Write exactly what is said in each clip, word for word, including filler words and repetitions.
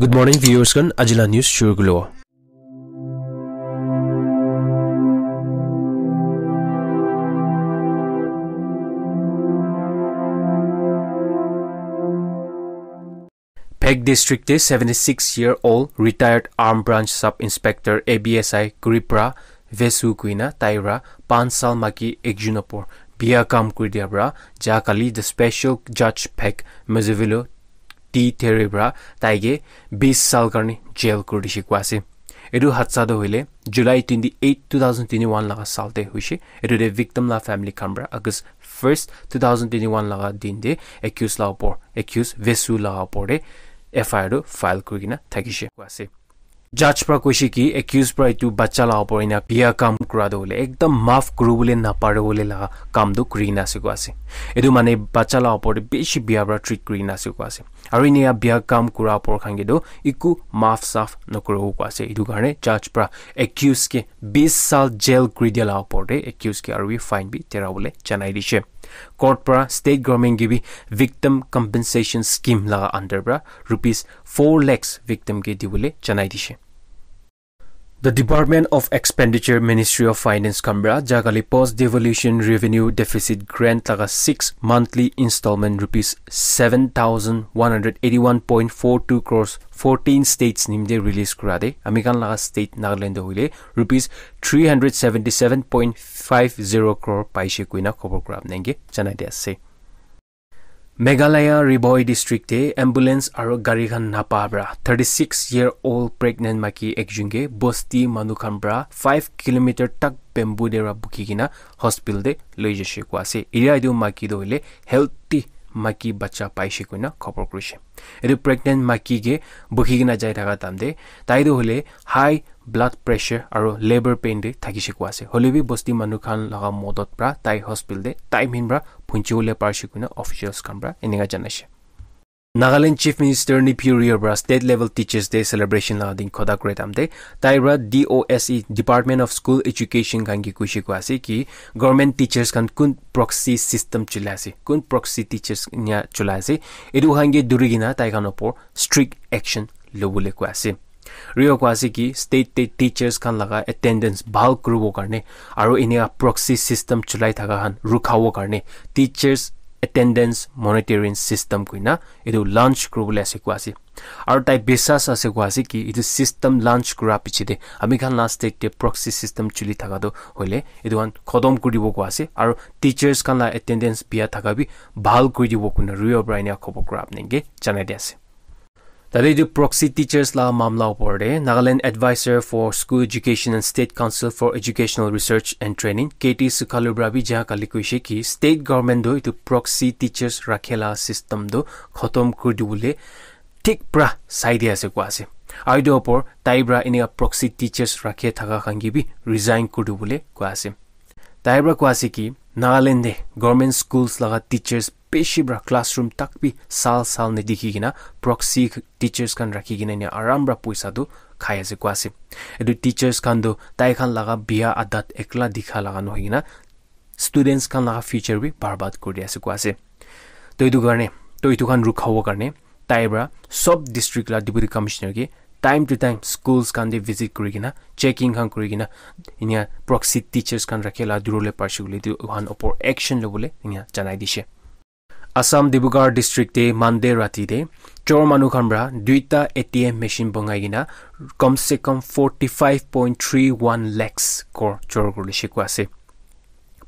Good morning, viewers khan. Ajila news shuru kulo. Phek district te seventy-six year old retired Arm Branch Sub Inspector A B S I Kripra Vesu kuina taira pansal maki ekjun opor bia kam kuri dia pra ja kali the special judge Phek Mezevelo T Terry pra taige bis sal karni jail kuri dishi kua ase. Etu hadsa toh hoile July twenty-eight, two thousand twenty-one laga sal te hoishe. Etu te victim la family khan pra August first, two thousand twenty-one laga din te accused la opor, accused Vesu laga opor te F I R tu file kuri kena thakishe kua ase. Judge pra koishe ki accused pra etu bacha la opor ena bia kam kura toh hoile ekdam maaf kuri bole napare bole laga kam tu kuri kena ase kua ase. Etu mane bacha la opor te bishi bia pra treat kuri kena ase kua ase. Aru enia bia kam kura opor khan ke tu eku maaf saaf nakuribo kua ase. Etu karne judge pra accused ke bis sal jail kuri dia la opor te accused ke aru bi fine bi tera bole janai dishe. Court pra state government ke bi victim compensation scheme laga under pra rupees four lakhs victim ke dibole janai dishe. The Department of Expenditure, Ministry of Finance khan pra jagali post devolution revenue deficit grant laga six monthly installment rupees seven thousand one hundred eighty-one point four two crores fourteen states nimite release kura de ami khan laga state Nagaland te hoile rupees three hundred seventy-seven point five zero crore paishe kuina khobor kura apnenge janai de ase. Meghalaya Ri Bhoi district te ambulance aro gari khan napa pra thirty-six year old pregnant maki ekjun ke bosti manu khan pra five kilometer tak bamboo dera bukhi kena hospital te loi jashe kua ase. Eria etu maki toh hoile healthy maki bacha paishe koina khobor kurishe. Etu pregnant maki ke bukhi kena jai thaka time te tai toh hoile high blood pressure aro labour pain te thakishe kua ase. Hoile bi bosti manu khan laga modot pra tai hospital te time hin pra phunchi bole parishe koina officials khan pra eneka janaishe. Nagaland Chief Minister Neiphiu Rio pra State Level Teachers Day celebration laga din khota kure time te tai pra D O S E, Department of School Education khan ke koishe kua ase ki government teachers khan kun proxy system chulai ase, kun proxy teachers nya chulai ase, etu khan ke duri kena tai khan opor strict action lobole kua ase. Rio kua ase ki state te teachers khan laga attendance bhal kuribo karne aro eneka proxy system chulai thaka khan rukhabo karne teachers attendance monitoring system koina etu launch kuribole ase kua ase. Aro tai bisas ase kua ase ki etu system launch kura piche te ami khan la state te proxy system chuli thaka toh hoile etu khan khotom kuri dibo kua ase aro teachers khan la attendance bia thaka bi bhal kuri dibo koina Rio pra eneka khobor kura apnenge janai de ase. Tate etu proxy teachers la mamla opor te Nagaland Advisor for School Education and State Council for Educational Research and Training, K T Sukhalu pra bi ja kali koishe ki state government toh etu proxy teachers rakhe la system toh khotom kuri dibole thik pra sai di ase kua ase. Aru etu opor tai pra eneka proxy teachers rakhe thaka khan ke bi resign kuri dibole kua ase. Tai pra kua ase ki Nagaland te government schools laga teachers bishi pra classroom tak bi sal sal ne dikhi kena proxy teachers khan rakhi kena enia aram pra poisa tu khai ase kua ase. Etu teachers khan tu tai khan laga bia adat ekla dikha laga nohoi kena students khan laga future bi barbad kuri ase kua ase. To etu karne, to etu khan rukhabo karne tai pra sob district la deputy commissioner ke time to time schools khan te visit kuri kena checking khan kuri kena inia proxy teachers khan rakhe la durole parshe koile tu uhan opor action lobole inia janai dishe. Assam Dibrugarh district te Monday rati te chor manu khan pra duita A T M machine bongai kena kom se kom forty-five point three one lakhs kor chor kuri lishe kua ase.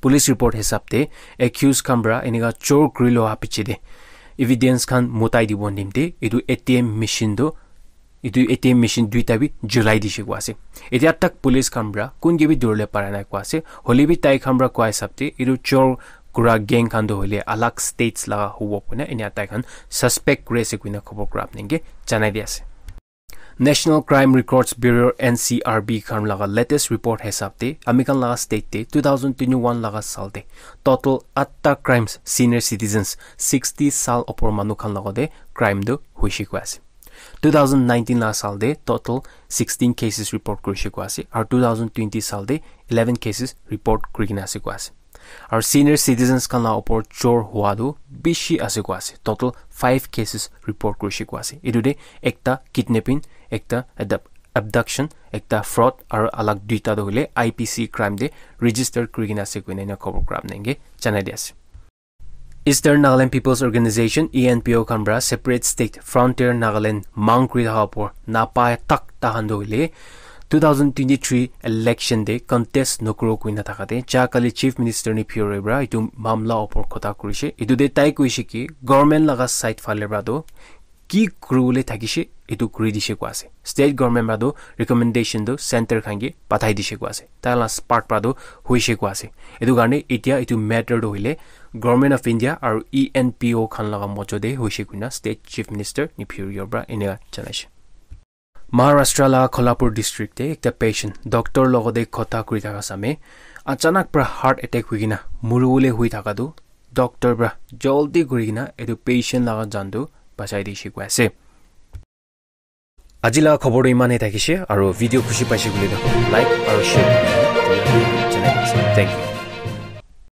Police report hisab te accused khan pra eneka chor kuri loa piche te evidence khan mutai dibo nimte etu A T M machine tu etu A T M machine duita bi julai dishe kua ase. Etia tak police khan pra kun ke bi durole para nai kua ase. Hole bi tai khan pra kua hisab te etu chor kura gang khan tu hoile alag states laga hobo koina enia tai khan suspect kuri ase koina khobor kura apnenge janai di ase. National Crime Records Bureau, N C R B khan laga latest report hisab te ami khan laga state te two thousand twenty-one laga sal te total atta crimes senior citizens sixty sal opor manu khan laga te crime tu hoishe kua ase. Two thousand nineteen laga sal te total sixteen cases report kurishe kua ase aru two thousand twenty sal te eleven cases report kuri kena ase kua ase. Aru senior citizens khan la opor chor hua tu bishi ase koi ase. Total five cases report kurishe koi ase. Etu te ekta kidnapping, ekta abduct- abduction, ekta fraud aru alag duita tu hoile I P C crime te register kuri kena ase koina ena khobor kura apni khan ke janai di ase. Eastern Nagaland People's Organization, E N P O khan pra separate state Frontier Nagaland mang kuri thaka opor napai tak tahan tu hoile two thousand twenty-three election te contest nokuro koina thaka te ja kali Chief Minister Neiphiu Rio pra etu mamla opor kotha kurishe. Etu te tai koishe ki government laga side phale pra tu ki kuribole thakishe etu kuri dishe koi ase. State government pra tu recommendation tu center khan ke pathai dishe koi ase. Tai la part pra tu hoishe koi ase. Etu karne etia etu matter tu hoile Government of India aru E N P O khan laga mojo te hoishe koina State Chief Minister Neiphiu Rio pra eneka janaishe. Maharashtra la Kolhapur district te ekta patient doctor logote kotha kuri thaka same achanak pra heart attack hoi kena muribole hoi thaka tu doctor pra jaldi kuri kena etu patient laga jan tu bachai dishe koi ase. Aji la khobor tu iman he thakishe aru video khushi paishe koile tu like aru share kuri kena janai dishe. Thank you.